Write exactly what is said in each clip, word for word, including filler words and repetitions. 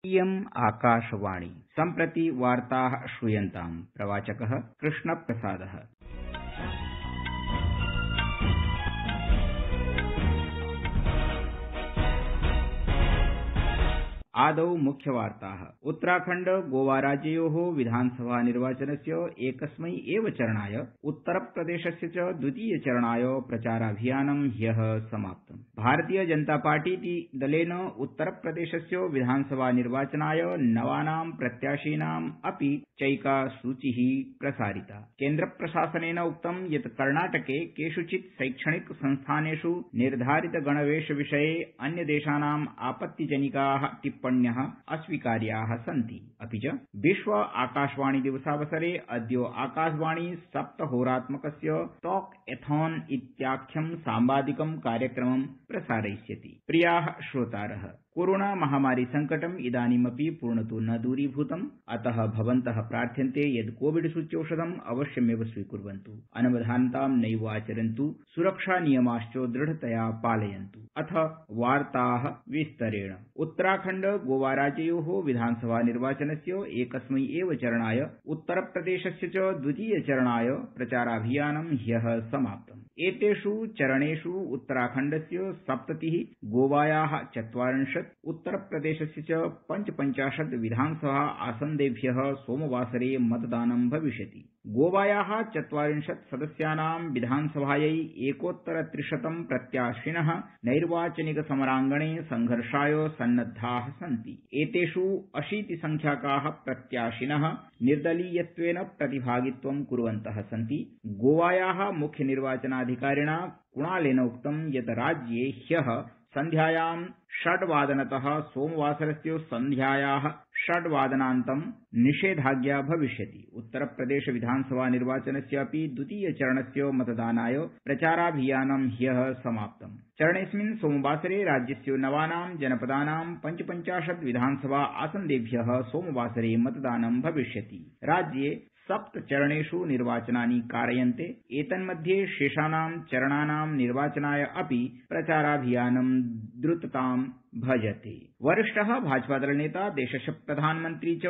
इयम् आकाशवाणी सम्प्रति वार्ताः श्रूयन्ताम्। प्रवाचकः कृष्णप्रसादः। आदौ मुख्यवार्ताः। उत्तराखण्ड गोवा राज्ययोः विधानसभा निर्वाचनस्य एकस्मै एव चरणाय उत्तरप्रदेशस्य च द्वितीय चरणाय प्रचाराभियानं ह्यः समाप्तम्। भारतीय जनता पार्टीति दलेन उत्तरप्रदेशस्य विधानसभा निर्वाचनाय नवानां प्रत्याशिनाम् अपि चैका सूचिः प्रसारिता। केन्द्रप्रशासनेन उक्तं यत् कर्णाटके केषुचित् शैक्षणिक संस्थानेषु निर्धारित गणवेशविषये अन्यदेशानाम् आपत्तिजनिकाः टिप्पण्यः अस्वीकार्याः सन्ति। अपि च विश्व आकाशवाणी दिवसावसरे अद्य आकाशवाणी सप्तहोरात्मकस्य टॉक एथॉन इत्याख्यं सांवादिकं कार्यक्रमं प्रसारयिष्यति। प्रियाः श्रोतारः, कोरोना महामारी संकटम् इदानीमपि पूर्णतो न दूरीभूतम्, अतः भवन्तः प्रार्थ्यन्ते यत् कोविड सूच्यौषधम् अवश्यमेव स्वीकुर्वन्तु, अनवधानतां नैव आचरन्तु, सुरक्षा नियमाश्च दृढतया पालयन्तु। अथ वार्ताः विस्तरेण। उत्तराखण्ड गोवा राज्ययोः विधानसभा निर्वाचनस्य एकस्मै एव चरणाय उत्तरप्रदेशस्य च द्वितीय चरणाय प्रचाराभियानं ह्यः समाप्तम्। एतेषु चरणेषु उत्तराखण्डस्य सप्ततिः, गोवायाः चत्वारिंशत्, उत्तरप्रदेशस्य च पञ्चपञ्चाशत् विधानसभा आसन्देभ्यः सोमवासरे मतदानं भविष्यति। गोवायाः चत्वारिंशत् सदस्यानां विधानसभायै एकोत्तरत्रिशतं प्रत्याशिनः नैर्वाचनिक समराङ्गणे संघर्षाय सन्नद्धाः सन्ति। एतेषु अशीतिसंख्याकाः प्रत्याशिनः निर्दलीयत्वेन प्रतिभागित्वं कुर्वन्तः सन्ति। गोवायाः मुख्य निर्वाचनाधिकारिणा कुणालेन उक्तं यत् राज्ये ह्यः सन्ध्यायां षड्वादनतः सोमवासरस्य सन्ध्यायाः षड्वादनान्तं निषेधाज्ञा भविष्यति। उत्तरप्रदेश विधानसभा निर्वाचनस्यापि द्वितीय चरणस्य मतदानाय प्रचाराभियानं ह्यः समाप्तम्। चरणेऽस्मिन् सोमवासरे राज्यस्य नवानां जनपदानां पञ्चपञ्चाशत् विधानसभा आसन्देभ्यः सोमवासरे मतदानं भविष्यति। राज्ये सप्तचरणेषु निर्वाचनानि कारयन्ते। एतन्मध्ये शेषाणां चरणानां निर्वाचनाय अपि प्रचाराभियानं द्रुततां भजते। वरिष्ठः भाजपादलनेता देशस्य प्रधानमन्त्री च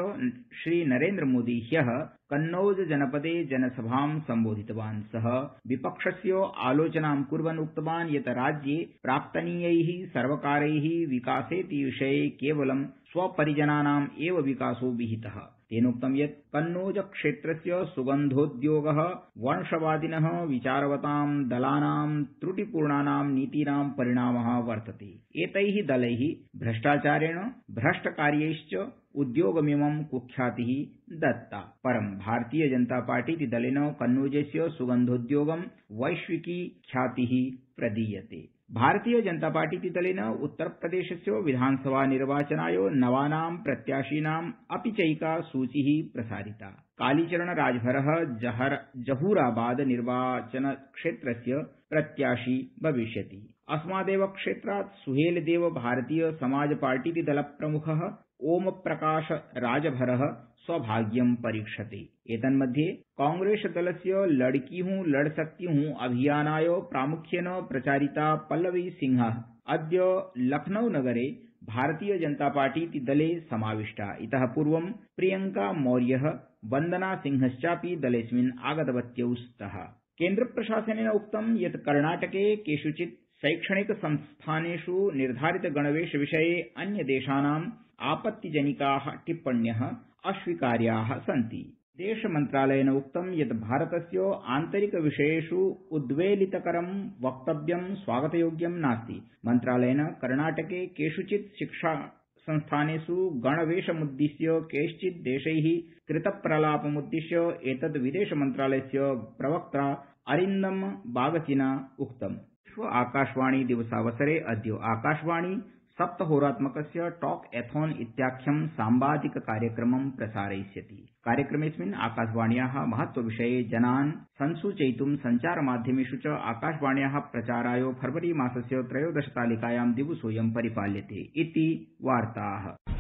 श्री नरेन्द्र मोदी ह्यः कन्नौज जनपदे जनसभां सम्बोधितवान्। सः विपक्षस्य आलोचनां कुर्वन् उक्तवान् यत् राज्ये प्राप्तनीयैः सर्वकारैः विकासेति विषये केवलं स्वपरिजनानाम् एव विकासो विहितः। तेनोक्तं यत् कन्नौज क्षेत्रस्य सुगन्धोद्योगः वंशवादिनः विचारवतां दलानां त्रुटिपूर्णानां नीतीनां परिणामः वर्तते। एतैः दलैः भ्रष्टाचारेण भ्रष्टकार्यैश्च उद्योगमिमं कुख्यातिः दत्ता। परं भारतीय जनता पार्टीति दलेन कन्नौजस्य सुगन्धोद्योगं वैश्विकी ख्यातिः प्रदीयते। भारतीय जनता पार्टीति दलेन उत्तरप्रदेशस्य विधानसभा निर्वाचनाय नवानां प्रत्याशिनाम् अपि चैका सूचिः प्रसारिता। कालीचरण राजभरः जहर जहूराबाद निर्वाचनक्षेत्रस्य प्रत्याशी भविष्यति। अस्मादेव क्षेत्रात् सुहेलदेव भारतीय समाज पार्टीति दलप्रमुखः ओम प्रकाश राजभरः स्वभाग्यं परीक्षते। एतन्मध्ये कांग्रेस दलस्य लड़की हूं लड़ सकती हूं अभियानाय प्रामुख्येन प्रचारिता पल्लवी सिंहः अद्य लखनऊ नगरे भारतीय जनता पार्टीति दले समाविष्टा। इतः पूर्वं प्रियंका मौर्यः, वन्दना सिंहश्चापि दलेऽस्मिन् आगतवत्यौ स्तः। केन्द्रप्रशासनेन उक्तं यत् कर्णाटके केषुचित् शैक्षणिक संस्थानेषु निर्धारित गणवेशविषये अन्यदेशानाम् आपत्तिजनिकाः टिप्पण्यः अस्वीकार्याः सन्ति। विदेशमन्त्रालयेन उक्तं यत् भारतस्य आन्तरिकविषयेषु उद्वेलितकरं वक्तव्यं स्वागतयोग्यं नास्ति। मन्त्रालयेन कर्णाटके केषुचित् शिक्षा संस्थानेषु गणवेशमुद्दिश्य कैश्चित् देशैः कृतप्रलापमुद्दिश्य एतद् विदेशमन्त्रालयस्य प्रवक्ता अरिन्दम बागचिना उक्तम्। विश्व आकाशवाणी दिवसावसरे अद्य आकाशवाणी सप्तहोरात्मकस्य टॉक एथॉन इत्याख्यं सांवादिक कार्यक्रमं प्रसारयिष्यति। कार्यक्रमेऽस्मिन् आकाशवाण्याः महत्वविषये जनान् संसूचयितुं सञ्चारमाध्यमेषु च आकाशवाण्याः प्रचाराय फरवरी मासस्य त्रयोदशतालिकायां दिवसोऽयं परिपाल्यते इति वार्ताः।